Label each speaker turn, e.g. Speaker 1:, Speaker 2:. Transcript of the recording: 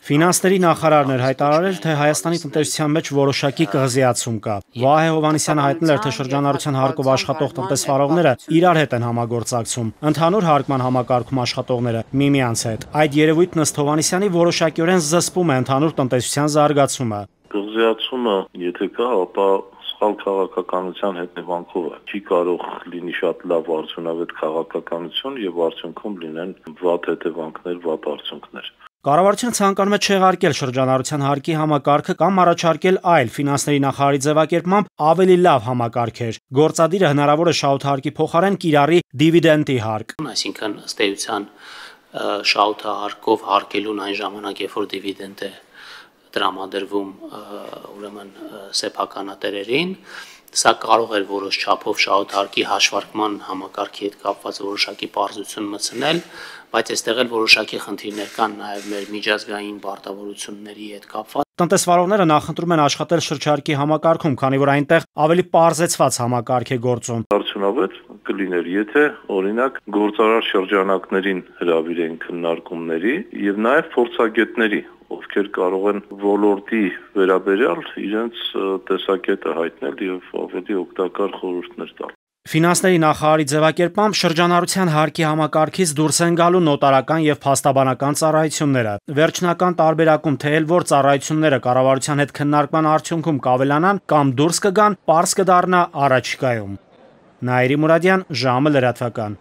Speaker 1: Ֆինանսների նախարարն էր հայտարարել, թե Հայաստանի տնտեսության մեջ որոշակի կղզիացում կա։ Վահե Հովհաննիսյանը հայտնել էր, թե շրջանառության հարկով աշխատող տնտեսվարողները իրար հետ են համագործակցում, ընդհանուր հարկման համակարգում աշխատողները միմյանց հետ։ Այդ երևույթն ըստ Հովհաննիսյանի որոշակիորեն զսպում է ընդհանուր տնտեսության զարգացումը։
Speaker 2: Կղզիացումը, եթե կա, ապա սխալ քաղաքականության հետևանքով է։ Չի կարող լինի շատ լավ արդյունավետ քաղաքականություն եւ արդյունքում լինեն վատ հետևանքներ, վատ արդյունքներ։
Speaker 1: Կառավարությունը ցանկանում է չեղարկել շրջանառության հարկի համակարգը կամ առաջարկել այլ ֆինանսների նախարարի ձևակերպմամբ ավելի լավ համակարգեր։ Գործադիրը հնարավոր է շահութահարկի փոխարեն կիրառի դիվիդենդի հարկ։
Speaker 3: Այսինքն ըստ էության շահութահարկով հարկելուն այն ժամանակ, երբ որ դիվիդենդ է տրամադրվում ուրեմն սեփականատերերին, սա կարող էր որոշ չափով շահութահարկի հաշվարկման համակարգի հետ կապված որոշակի պարզություն մտցնել, բայց այստեղ էլ որոշակի խնդիրներ կան նաև մեր միջազգային պարտավորությունների հետ կապված։
Speaker 1: Տնտեսվարողները նախընտրում են աշխատել շրջարկի համակարգում, քանի որ այնտեղ ավելի պարզեցված համակարգ է գործում։
Speaker 2: Արդյունավետ կլիներ, եթե օրինակ գործարար շրջանակներին հրավիրեն քննարկումների եւ նաև փորձագետների, ովքեր կարող են ոլորտի վերաբերյալ իրենց տեսակետը հայտնել եւ ավելի օգտակար խորհուրդներ տալ։
Speaker 1: Ֆինանսների նախարարի ձևակերպմամբ շրջանառության հարկի համակարգից դուրս են գալու նոտարական եւ փաստաբանական ծառայությունները։ Վերջնական տարբերակում թե էլ որ ծառայությունները կառավարության հետ քննարկման արդյունքում կավելանան կամ դուրս կգան, պարզ կդառնա առաջիկայում։ Նաիրի Մուրադյան, ժամը լրատվական։